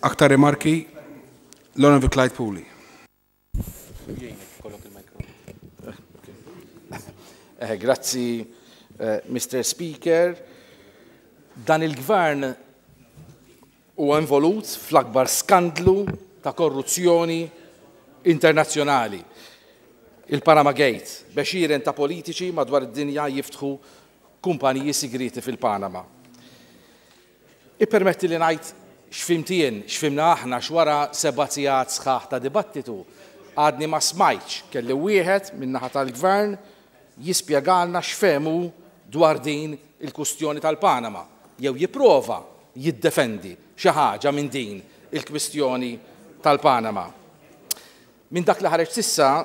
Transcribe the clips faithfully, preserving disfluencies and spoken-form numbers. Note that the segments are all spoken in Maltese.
Aktar rimarki, l-Onorevoli Clyde Puli. Eh, grazzi, eh, Mister Speaker. Dan il-gvern huwa involut fl-akbar skandlu ta' korruzzjoni internazzjonali. Il-Panama Gate, b'għexieren ta' politiċi madwar id-dinja jiftħu kumpaniji sigriti fil-Panama. Ippermetti li ngħid x'fhimt jien, x'fhimna aħna x'wara seba' sigħat sħaħ ta' dibattitu, għadni ma smajtx kelli wieħed min-naħa tal-gvern jispjegalna x'fehmu dwar din il-kwistjoni tal-Panama, jew jipprova jiddefendi xi ħaġa minn din il-kwistjoni tal-Panama. Minn dak li ħareġ sissa,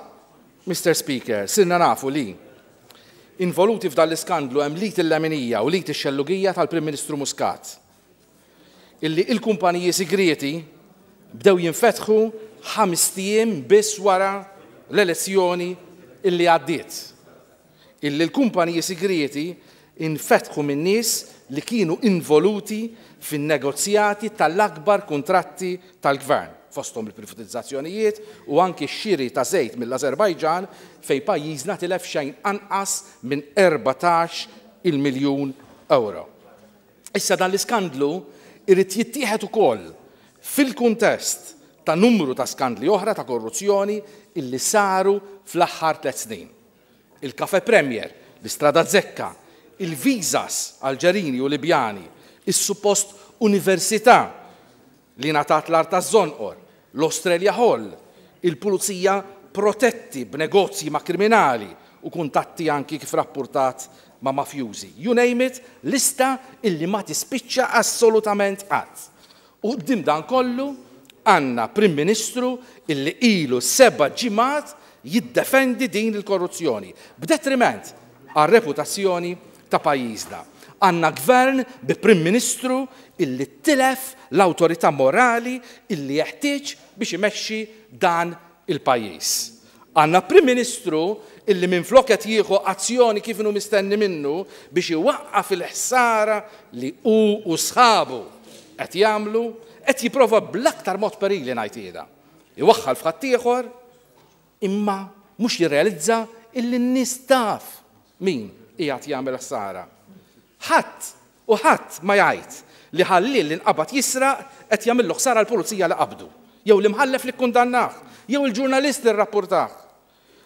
Mister Speaker, sirna nafu li involuti f'dan l-iskandlu hemm lit il-leminija u lit ix-xellugija tal-Prim Ministru Muscat, illi il-kumpaniji sigrieti bdew jinfetħu ħames ijiem biss wara l-elezzjoni illi għaddiet. Illi l-kumpaniji sigrieti infetħu minn nies li kienu involuti fin-negozjati tal-akbar kuntratti tal-gvern, fosthom il-privatizzazzjonijiet u anki x-xiri ta' żejt mill-Azerbajġan fejn pajjiżna tilef xejn anqas minn erbatax il-miljun euro. Issa dan l-iskandlu irid jittieħed ukoll fil-kuntest ta' numru ta' skandli oħra ta' korruzzjoni illi saru fl-aħħar tliet snin. Il-Cafe Premier, l-Istrada Zekka, il-visas Alġerini u Libjani, is-suppost università li ngħatat l-art taż-Żonqor, l-Australia Hall, il-pulizija protetti b'negozji ma' kriminali u kuntatti anki kif rappurtat ma' mafjużi. You name it, lista illi ma tispiċċa assolutament qatt. U quddiem dan kollu għandna Prim Ministru illi ilu seba' ġimgħat jiddefendi din il-korruzzjoni, b'detriment għar-reputazzjoni ta' pajjiżna. Għandna gvern bi Prim Ministru illi tilef l-awtorità morali illi jeħtieġ biex imexxi dan il-pajjiż. Għandna Prim Ministru illi minflok qed jieħu azzjoni kif inhu mistenni minnu biex iwaqqaf il-ħsara li hu u sħabu qed jagħmlu, qed jipprova bl-aktar mod perili ngħid jiena. Iwaħħal f'ħaddieħor imma mhux jirrealizza illi n-nies taf min qiegħed jagħmel ħsara. Ħadd u ħadd ma jgħid li ħallil li nqabad jisraq qed jagħmillu ħsara l-pulizija li qabdu, jew l-imħallef li kkundannah, jew il-ġurnalist li rrappurtah.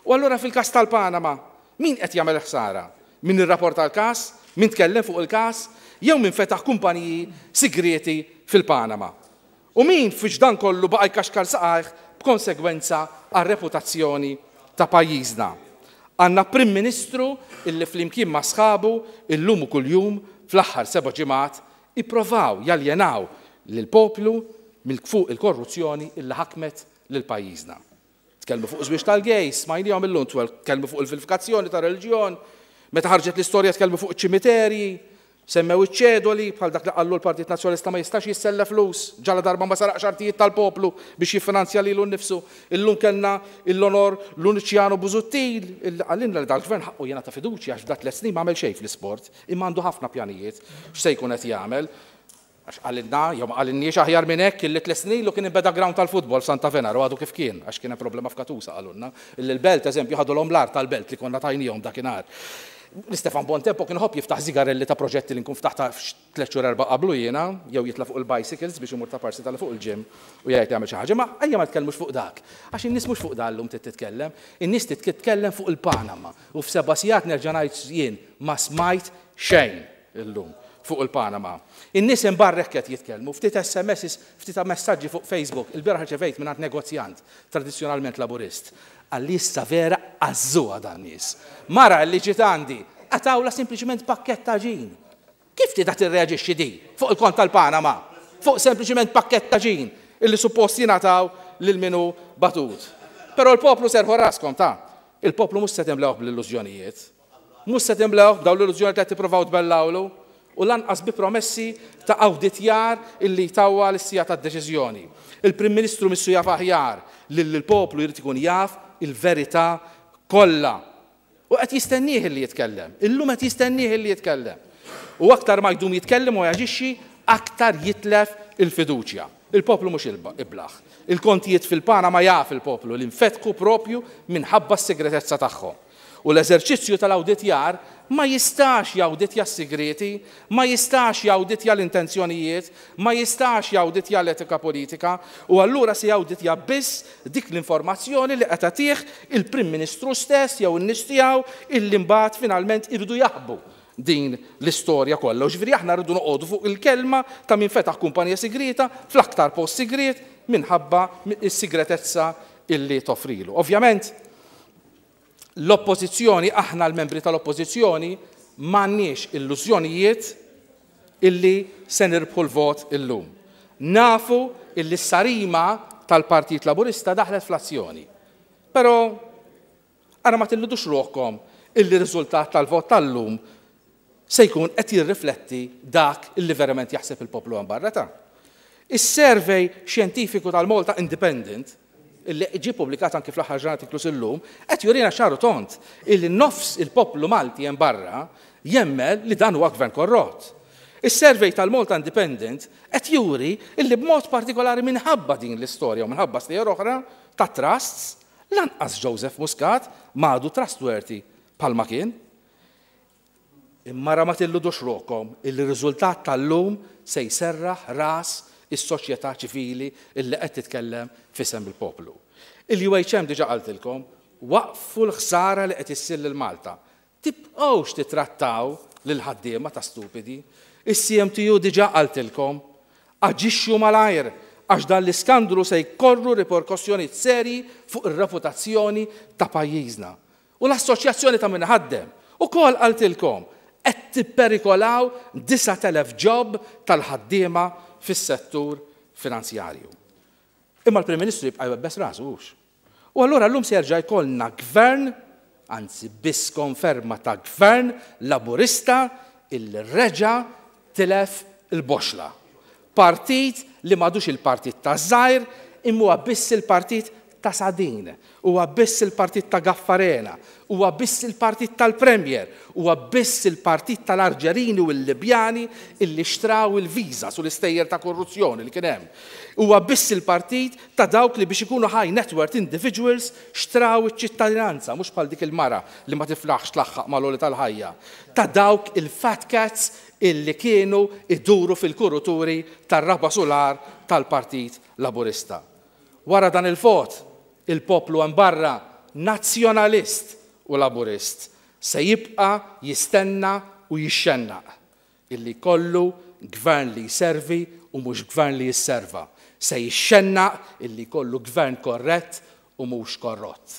U allura fil-każ tal-Panama, min qed jagħmel ħsara? Min irrapporta l-każ? Min tkellem fuq il-każ? Jew min fetaħ kumpaniji sigrieti fil-Panama? U min fiex dan kollu baqa' jkaxkar saqajh b'konsegwenza għar-reputazzjoni ta' pajjiżna? Għandna Prim Ministru illi flimkien ma' sħabu illum u kuljum fl-aħħar seba' ġimgħat ippruvaw jaljenaw lill-poplu mill fuq il-korruzzjoni illi ħakmet lil pajjiżna. Tkellmu fuq żwieġ tal-gejs, smajnihom illum, tkellmu fuq il-vilifikazzjoni ta' reliġjon, meta ħarġet l-istorja tkellmu fuq iċ-ċimiterji, semmew iċ-ċedoli bħal dak li qallu l-Partit Nazzjonalista ma jistax jissella flus, ġala darba ma saraqx artijiet tal-poplu biex jiffinanzja lilu nnifsu. Illum kellna l-onor Luciano Busuttil, illi qalilna li dal-gvern ħaqqu jingħata fiduċja għax f'dak tliet snin ma għamel xejn fl-isport, imma għandu ħafna pjanijiet x'se jkun qed jagħmel. Għax qalilna, jew ma qalilniex aħjar minn hekk illi tliet snin ilu kien inbeda ground tal-futbol f'Santa Venera u għadu kif kien, għax kien hemm problema f'Katusa qalulna. Illi l-belt, eżempju, ħadulhom l-art tal-belt li konna tajnihom dakinhar. Stefan Bontempo kien ħobb jiftaħ zigarelli ta' proġetti li nkun ftaħta tliet xhur erba' qablu jiena, jew jitla' fuq il-bicycles biex imur ta' parsi tal fuq il-gym u jgħid jagħmel xi ħaġa, ma ejja ma tkellmux fuq dak. Għax in-nies mhux fuq dan llum trid titkellem, in-nies trid titkellem fuq il-Panama. U f'seba' sigħat nerġa' ngħid jien ma smajt xejn illum fuq il-Panama. In-nies imbarrek qed jitkellmu, ftit S M Ss, ftit messaġġi fuq Facebook, il-bieraħ rċevejt mingħand negozjant tradizzjonalment laburist. Għalli issa vera għażżuha dan nies. Mara li ġiet għandi, għatawla sempliċement pakkett ta' ġin. Kif tida tirreaġixxi di fuq il-kont tal-Panama? Fuq sempliċement pakkett ta' ġin illi suppost jingħataw lil minu batut. Però l-poplu serħu raskom ta' il-poplu mhux se timlewh bl-illużjonijiet. Mhux se timlewh b'dawn l-illużjonijiet li qed tippruvaw tbellawlu u lanqas bi promessi ta' awditjar illi jtawwa l-sija tad-deċiżjoni. Il-Prim Ministru missu jaf aħjar li l-poplu jrid ikun jaf il-verità kollha. U qed jistennieh illi jitkellem. Illum qed jistennieh illi jitkellem. U aktar ma jdum jitkellem u jaġixxi, aktar jitlef il-fiduċja. Il-poplu mhux iblaħ. Il-kontijiet fil-Panama jaf il-poplu li nfetħu propju minħabba s-segretezza tagħhom. U l-eżerċizzju tal-awditjar ma jistax jawditja s-sigreti, ma jistax jawditja l-intenzjonijiet, ma jistax jawditja l-etika politika, u allura se jawditja biss dik l-informazzjoni li qed tagħtih il-Prim Ministru stess jew in-nies tiegħu illi mbagħad finalment iridu jaħbu din l-istorja kollha. U ġifieri aħna rridu noqogħdu fuq il-kelma ta' min fetaħ kumpanija sigrita fl-aktar post sigriet minħabba s-sigretezza illi toffrilu. Ovvjament, l-oppożizzjoni, aħna l-membri tal-oppożizzjoni, m'għandniex illużjonijiet illi se nirbħu l-vot illum. Nafu illi s-sarima tal-Partit Laburista daħlet fl-azzjoni. Però, ara ma tilludux ruħkom illi riżultat tal-vot tal-lum se jkun qed jirrifletti dak illi verament jaħseb il-poplu hemm barra ta'. Is-survey xjentifiku tal-Malta Independent, illi ġie publikat anki fl-aħħar ġurnata inkluż illum, qed jurina ċar u tond illi nofs il-poplu Malti hemm barra jemmen li dan huwa gvern korrott. Is-survey tal-Malta Independent qed juri illi b'mod partikolari minħabba din l-istorja u minħabba stejjer oħra ta' trusts, lanqas Joseph Muscat m'għadu trustworthy bħalma kien. Imma ra ma tilludux ruħkom illi r-riżultat tal-lum se jserraħ ras is-soċjetà ċivili illi qed titkellem f'isem il-poplu. Il-U H M diġà qaltilkom, waqfu l-ħsara li qed issir lil Malta. Tibqgħux titrattaw lil ħaddiema ta' stupidi. Is-C M T U diġà qaltilkom, aġixxu malajr għax dan l-iskandlu se jkorru riperkussjonijiet serji fuq ir-reputazzjoni ta' pajjiżna. U l-assoċjazzjoni ta' min ħaddem ukoll qaltilkom qed tipperikolaw disat elef job tal-ħaddiema fis-settur finanzjarju. Imma l-Prim Ministru jibqa' jwebbes rasu hux. U allura llum se jerġa' jkollna gvern, anzi biss konferma ta' gvern laburista illi reġa' tilef il-boxla. Partit li m'għadux il-partit ta' żgħir, imma huwa biss il-partit ta' Sadin, huwa biss il-partit ta' Gaffarena, huwa biss il-partit tal-Premier, huwa biss il-partit tal-Arġerini u l-Libjani illi xtraw il-viża sul istejjer ta' korruzzjoni li kien hemm. Huwa biss il-partit ta' dawk li biex ikunu high net worth individuals xtraw iċ-ċittadinanza, mhux bħal dik il-mara li ma tiflaħx tlaħħaq mal-għoli tal-ħajja. Ta' dawk il-fat cats illi kienu iduru fil-kuruturi tar-raba' solar tal-Partit Laburista. Wara dan il-vot, il-poplu hemm barra nazzjonalist u laburist se jibqa' jistenna u jixxennaq illi kollu gvern li jservi u mhux gvern li jisserva. Se jixxennaq illi kollu gvern korrett u mhux korrott.